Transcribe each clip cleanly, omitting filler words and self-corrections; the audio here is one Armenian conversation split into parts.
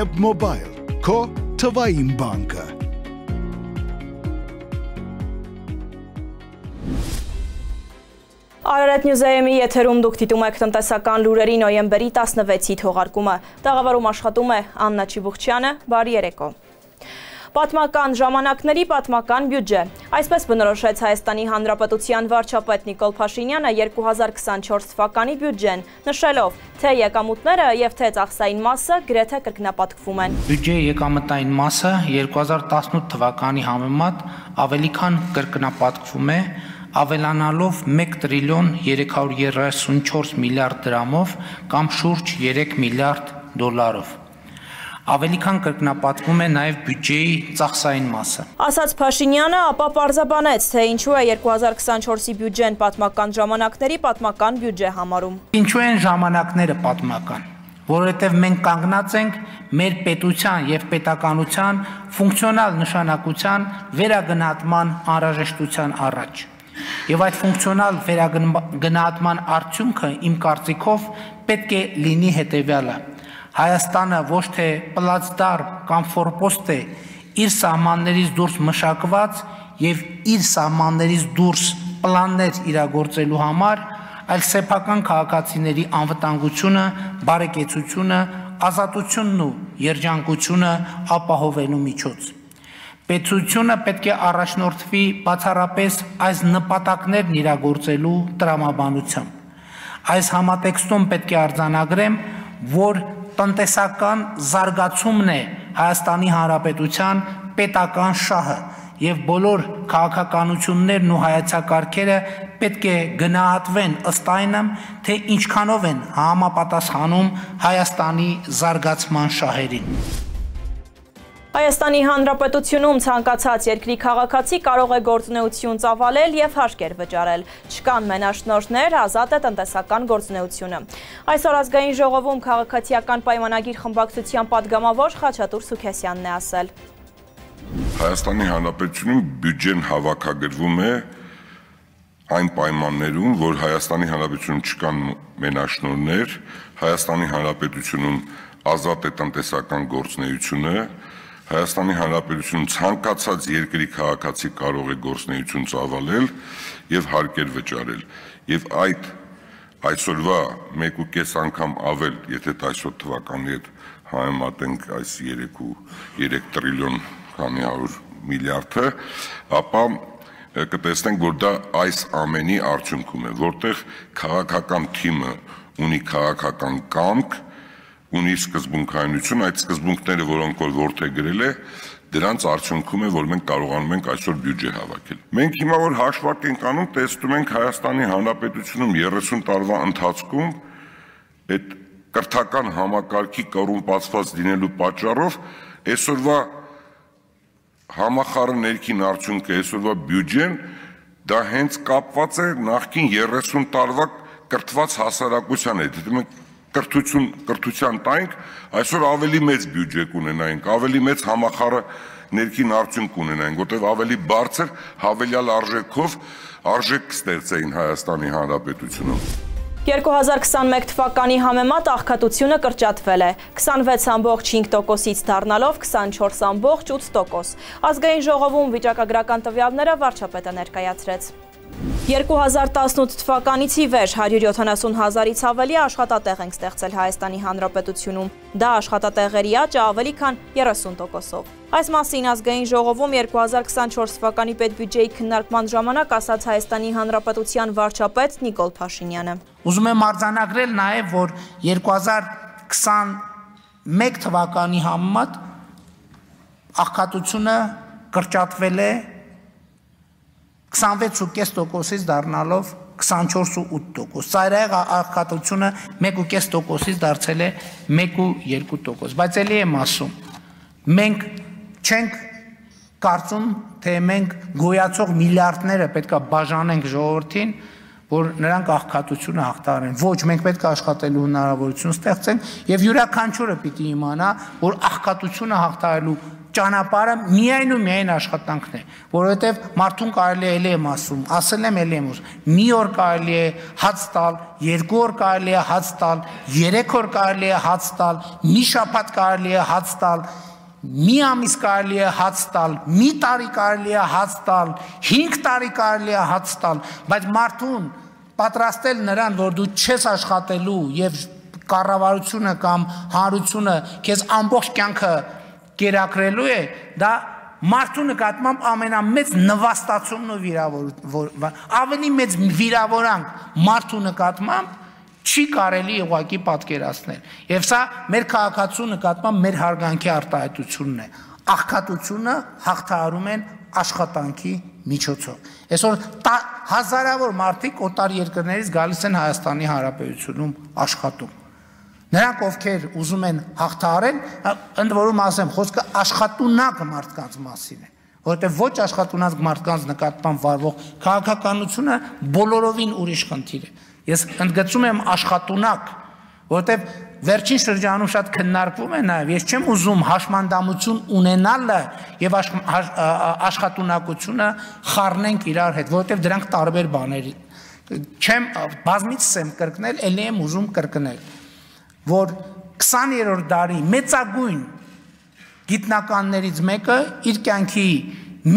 Keb Mobile, քո թվային բանկը։ Արարատ Նյուզայեմի եթերում դուք դիտում եք տնտեսական լուրերի նոյեմբերի 16-ի թողարկումը։ Տաղավարում աշխատում է Աննա Չիբուխչյանը, բարի երեկո։ Պատմական ժամանակների պատմական բյուջե։ Այսպես բնորոշեց Հայաստանի Հանրապետության վարչապետ Նիկոլ Փաշինյանը 2024 թվականի բյուջեն, նշելով, թե եկամուտները եւ թե ծախսային մասը գրեթե կրկնապատկվում են։ Բյուջեի եկամտային մասը 2018 թվականի համեմատ ավելի քան կրկնապատկվում է, ավելանալով 1 տրիլիոն 334 միլիարդ դրամով կամ շուրջ 3 միլիարդ դոլարով։ Ավելի քան կրկնապատկվում է նաև բյուջեի ծախսային մասը։ Ասաց Փաշինյանը, ապա պարզաբանեց, թե ինչու է 2024-ի բյուջեն պատմական ժամանակների պատմական բյուջե համարում։ Ինչու են ժամանակները պատմական, որովհետև մենք կանգնած ենք մեր պետության եւ պետականության ֆունկցիոնալ նշանակության վերագնահատման անհրաժեշտության առաջ։ Եվ այդ ֆունկցիոնալ վերագնահատման արդյունքը իմ կարծիքով պետք է լինի հետևյալը. Հայաստանը ոչ թե պլացդար կամ ֆորպոստ է իր սահմաններից դուրս մշակված եւ իր սահմաններից դուրս պլաններ իրագործելու համար, այլ սեփական քաղաքացիների անվտանգությունը, բարեկեցությունը, ազատությունն ու երջանկությունը ապահովելու միջոց։ Պետությունը պետք է առաջնորդվի բացառապես այս նպատակներն իրագործելու տրամաբանությամբ։ Այս համատեքստում պետք է արձանագրեմ, որ տնտեսական զարգացումն է Հայաստանի Հանրապետության պետական շահը եւ բոլոր քաղաքականություններն ու հայեցակարգերը պետք է գնահատվեն ըստ այնմ, թե ինչքանով են համապատասխանում Հայաստանի զարգացման շահերին։ Հայաստանի Հանրապետությունում ցանկացած երկրի քաղաքացի կարող է գործունեություն ծավալել եւ հարկեր վճարել։ Չկան մենաշնորհներ, ազատ է տնտեսական գործունեությունը։ Այսօր ազգային ժողովում քաղաքացիական պայմանագիր խմբակցության падգամավոր Խաչատուր Սուքեսյանն է ասել. Հայաստանի Հանրապետությունում բյուջեն հավաքագրվում է այն պայմաններում, որ Հայաստանի Հանրապետությունում չկան մենաշնորհներ, Հայաստանի Հանրապետությունում ազատ է տնտեսական գործունեությունը, Հայաստանի Հանրապետությունում ցանկացած երկրի քաղաքացի կարող է գործունեություն ծավալել եւ հարկեր վճարել։ Եվ այդ այսօրվա 1.5 անգամ ավել, եթե այսօր թվականի հետ համեմատենք այս 3 տրիլիոն քանի 100 միլիարդը, ապա կտեսնենք, որ դա այս ամենի արդյունքում է, որտեղ քաղաքական թիմը ունի քաղաքական կամք, ունի սկզբունքայնություն, այդ սկզբունքները, որոնք որ որդեգրել է, դրանց արդյունքում է, որ մենք կարողանում ենք այսօր բյուջե հավաքել։ Մենք հիմա որ հաշվարկ ենք անում, տեսնում ենք Հայաստանի Հանրապետությունում 30 տարվա ընթացքում այդ կրթական համակարգի կոռումպացված լինելու պատճառով այսօրվա համախառն ներքին արդյունքը, այսօրվա բյուջեն, դա հենց կապված է նախկին 30 տարվա կրթված հասարակության հետ։ Մենք կրթության տայինք, այսօր ավելի մեծ բյուջե կունենայինք, ավելի մեծ համախառն ներքին արդյունք կունենայինք, որտեղ ավելի բարձր հավելյալ արժեքով արժեք կստեղծեին Հայաստանի Հանրապետությունում։ 2021 թվականի համեմատ աղքատությունը կրճատվել է 26.5%-ից դառնալով 24.8%։ Ազգային ժողովում վիճակագրական տվյալները վարչապետը ներկայացրեց։ 2018 թվականից ի վեր 170,000-ից ավելի աշխատատեղ ենք ստեղծել Հայաստանի Հանրապետությունում։ Դա աշխատատեղերի աճը ավելի քան 30%-ով։ Այս մասին ազգային ժողովում 2024 թվականի պետբյուջեի քննարկման ժամանակ ասաց Հայաստանի Հանրապետության վարչապետ Նիկոլ Փաշինյանը։ Ուզում եմ արձանագրել նաև, որ 2021 թվականի համեմատ աղքատությունը կրճատվել է 26.5%-ից դառնալով 24.8%։ Ծայրահեղ աղքատությունը 1.5%-ից դարձել է 1.2%։ Բայց ելի եմ ասում, մենք չենք կարծում, թե մենք գոյացող միլիարդները պետք է բաժանենք ժողովրդին, որ նրանք աղքատությունը հաղթահարեն։ Ոչ, մենք պետք է աշխատելու հնարավորություն ստեղծենք եւ յուրաքանչյուրը պիտի իմանա, որ աղքատությունը հաղթահարելու ճանապարհը միայն ու միայն աշխատանքն է, որովհետև մարդուն կարելի է ելի եմ ասում, ասել եմ ելի եմ ուզում, մի օր կարելի է հաց տալ, 2 օր կարելի է հաց տալ, 3 օր կարելի է հաց տալ, մի շաբաթ կարելի է հաց տալ, մի ամիս կարելի է հաց տալ, մի տարի կարելի է հաց տալ, 5 տարի կարելի է հաց տալ, բայց մարդուն պատրաստել նրան, որ դու չես աշխատելու եւ կառավարությունը կամ հանրությունը քեզ ամբողջ կյանքը կերակրելու է, դա մարդու նկատմամբ ամենամեծ նվաստացումն ու վիրավորություն, ավելի մեծ վիրավորանք մարդու նկատմամբ չի կարելի ուղղակի պատկերացնել։ Եվ սա մեր քաղաքացու նկատմամբ մեր հարգանքի արտահայտությունն է։ Աղքատությունը հաղթահարում են աշխատանքի միջոցով։ Այսօր հազարավոր մարդիկ օտար երկրներից գալիս են Հայաստանի Հանրապետությունում աշխատում։ Նրանք ովքեր ուզում են հաղթահարել, ընդ որում ասեմ, խոսքը աշխատունակ մարդկանց մասին է, որովհետև ոչ աշխատունակ մարդկանց նկատմամբ վարվող քաղաքականությունը բոլորովին ուրիշ խնդիր է։ Ես ընդգծում եմ աշխատունակ, որովհետև վերջին շրջանում շատ քննարկվում է նաև, ես չեմ ուզում հաշմանդամություն ունենալը եւ աշխատունակությունը խառնենք իրար հետ, որովհետև դրանք տարբեր բաներ չեմ բազմիցս եմ կրկնել, ելի եմ ուզում կրկնել, որ 20-րդ դարի մեծագույն գիտնականներից մեկը իր կյանքի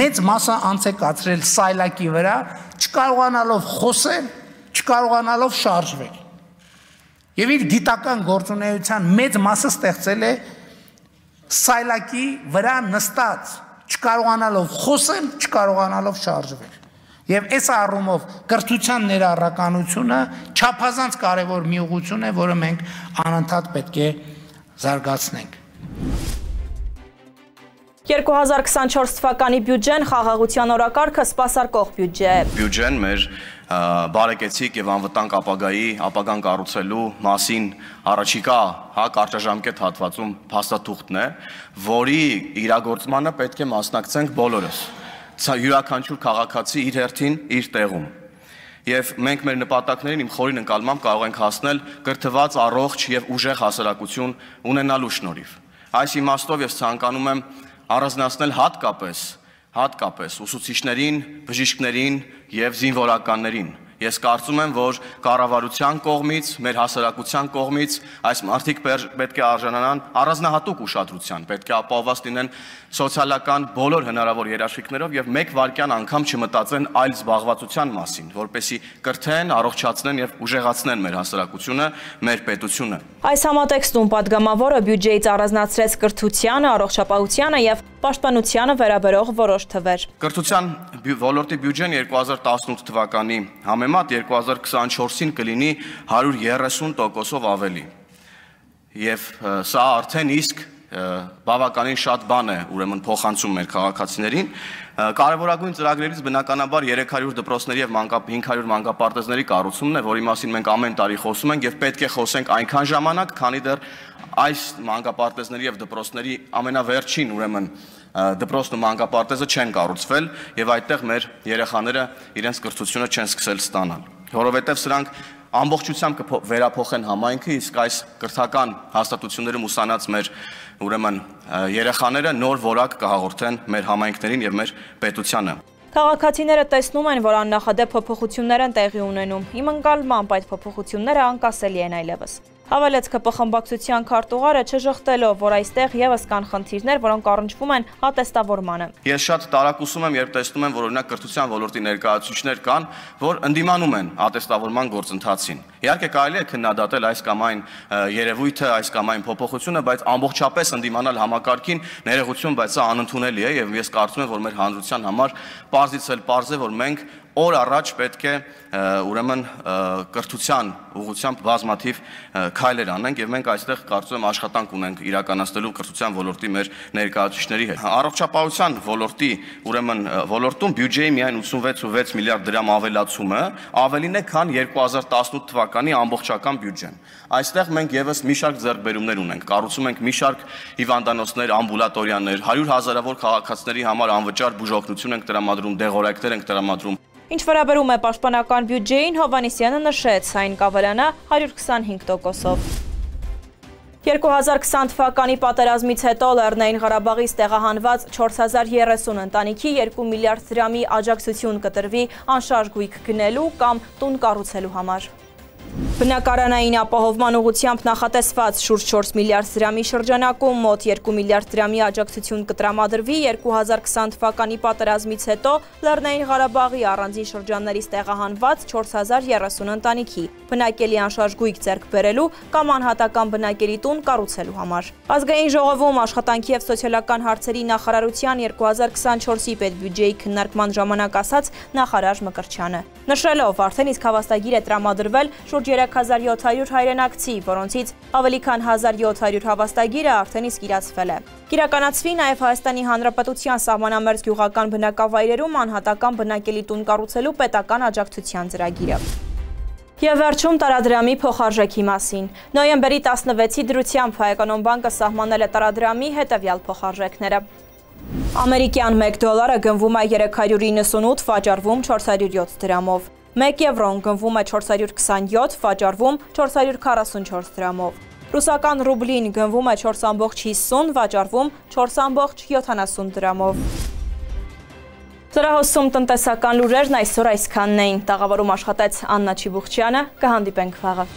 մեծ մասը անց է կացրել սայլակի վրա, չկարողանալով խոսել, չկարողանալով շարժվել։ Եվ իր գիտական գործունեության մեծ մասը ստեղծել է սայլակի վրա նստած, չկարողանալով խոսել, չկարողանալով շարժվել։ Եվ այս առումով կրթության ներառականությունը չափազանց կարևոր մի ուղղություն է, որը մենք անընդհատ պետք է զարգացնենք։ 2024 թվականի բյուջեն խաղաղության օրակարգը սպասարկող բյուջե է։ Բյուջեն մեր բարեկեցիկ եւ անվտանգ ապագան կառուցելու մասին առաջիկա կարճաժամկետ հատվածում փաստաթուղթն է, որի իրագործմանը պետք է մասնակցենք բոլորս։ Յուրաքանչյուր քաղաքացի իր հերթին իր տեղում։ Եվ մենք մեր նպատակներին իմ խորին ընկալմամբ կարող ենք հասնել կրթված, առողջ եւ ուժեղ հասարակություն ունենալու շնորհիվ։ Այս իմաստով ես ցանկանում եմ առանձնացնել հատկապես ուսուցիչներին, բժիշկներին եւ զինվորականներին։ Ես կարծում եմ, որ կառավարության կողմից, մեր հասարակության կողմից այս մարդիկ պետք է արժանանան առանձնահատուկ ուշադրության, պետք է ապահովված լինեն սոցիալական բոլոր հնարավոր երաշխիքներով եւ մեկ վայրկյան անգամ չմտածեն այլ զբաղվածության մասին, որպեսզի կրթեն, առողջացնեն եւ ուժեղացնեն մեր հասարակությունը, մեր պետությունը։ Այս համատեքստում падգամավորը բյուջեից առանձնացրեց կրթությանը, առողջապահությանը եւ պաշտպանությանը վերաբերող որոշ թվեր։ Կրթության ոլորտի բյուջեն 2018 թվականի համեմատ 2024-ին կլինի 130%-ով ավելի։ Եվ սա արդեն իսկ բավականին շատ բան է, ուրեմն փոխանցում մեր քաղաքացիներին։ Կարևորագույն ծրագրերից բնականաբար 300 դպրոցների եւ 500 մանկապարտեզների կառուցումն է, որի մասին մենք ամեն տարի խոսում ենք եւ պետք է խոսենք այնքան ժամանակ, քանի դեռ այս մանկապարտեզների եւ դպրոցների ամենավերջին ուրեմն դպրոցն ու մանկապարտեզը չեն կառուցվել եւ այդտեղ մեր երեխաները իրենց կրթությունը չեն սկսել ստանալ, որովհետեւ սրանք ամբողջությամբ կվերափոխեն համայնքը, իսկ այս կրթական հաստատություններում ուսանած մեր ուրեմն երեխաները նոր որակ կհաղորդեն մեր համայնքներին եւ մեր պետությանը։ Քաղաքացիները տեսնում են, որ աննախադեպ փոփոխություններ են տեղի ունենում։ Իմ ընկալմամբ այդ փոփոխությունները անկասելի են այլևս։ Հավելեց ԿՊ խմբակցության քարտուղարը չժխտելով, որ այստեղ եւս կան խնդիրներ, որոնք առնչվում են ատեստավորմանը։ Ես շատ տարակուսում եմ, երբ տեսնում եմ, որ օրինակ կրթության ոլորտի ներկայացուցիչներ կան, որ ընդդիմանում են ատեստավորման գործընթացին։ Իհարկե կարելի է քննադատել այս կամ այն երևույթը, այս կամ այն փոփոխությունը, բայց ամբողջապես ընդդիմանալ համակարգին ներողություն, բայց սա անընդունելի է եւ ես կարծում եմ, որ մեր հանրության համար պարզից էլ պարզ է, որ մենք օր առաջ պետք է ուրեմն կրթության ուղղությամբ բազմաթիվ քայլեր անենք եւ մենք այստեղ կարծում եմ աշխատանք ունենք իրականացնելու կրթության ոլորտի մեր ներկայացուցիչների հետ։ Առողջապահության ոլորտի ուրեմն ոլորտում բյուջեի միայն 86.6 միլիարդ դրամ ավելացումը ավելին է, քան 2018 թվականի ամբողջական բյուջեն։ Այստեղ մենք եւս մի շարք ձեռքբերումներ ունենք, կառուցում ենք մի շարք հիվանդանոցներ, ամբուլատորիաներ, 100,000-ավոր քաղաքացիների համար անվճար բուժօգնություն ենք տրամադրում, դեղորայքներ ենք տրամադրում։ Ինչ վերաբերում է պաշտպանական բյուջեին, Հովհաննիսյանը նշեց, այն կավելանա 125%-ով։ 2020 թվականի պատերազմից հետո Լեռնային Ղարաբաղից տեղահանված 4030 ընտանիքի 2 միլիարդ դրամի աջակցություն կտրվի անշարժ գույք գնելու կամ տուն կառուցելու համար։ Բնակարանային ապահովման ուղղությամբ նախատեսված շուրջ 4 միլիարդ դրամի շրջանակում մոտ 2 միլիարդ դրամի աջակցություն կտրամադրվի 2020 թվականի պատերազմից հետո Լեռնային Ղարաբաղի առանձին շրջաններից տեղահանված 4030 ընտանիքի բնակելի անշարժ գույք ձեռք բերելու կամ անհատական բնակելի տուն կառուցելու համար։ Ազգային ժողովում աշխատանքի եւ սոցիալական հարցերի նախարարության 2024-ի պետբյուջեի քննարկման ժամանակ ասաց նախարար Մկրտչյանը։ Նշելով, արդեն իսկ հավաստագիր է տրամադրվել շուրջ 3700 հայրենակցի, որոնցից ավելի քան 1700 հավաստագիրը արդեն իսկ իրացվել է։ Կիրականացվի նաև Հայաստանի Հանրապետության սահմանամերձ գյուղական բնակավայրերում անհատական բնակելի տուն կառուցելու պետական աջակցության ծրագիրը։ Եվ վերջում տարադրամի փոխարժեքի մասին։ Նոյեմբերի 16-ի դրությամբ Հայ բանկը սահմանել է տարադրամի հետևյալ փոխարժեքները։ Ամերիկյան 1 դոլարը գնվում է 398, վաճառվում 407 դրամով։ 1 եվրոն գնվում է 427, վաճառվում 444 դրամով։ Ռուսական ռուբլին գնվում է 4.50, վաճառվում 4.70 դրամով։ Լրահոսում տնտեսական լուրերն այսօր այսքանն էին։ Տաղավարում աշխատեց Աննա Չիբուխչյանը, կհանդիպենք վաղը։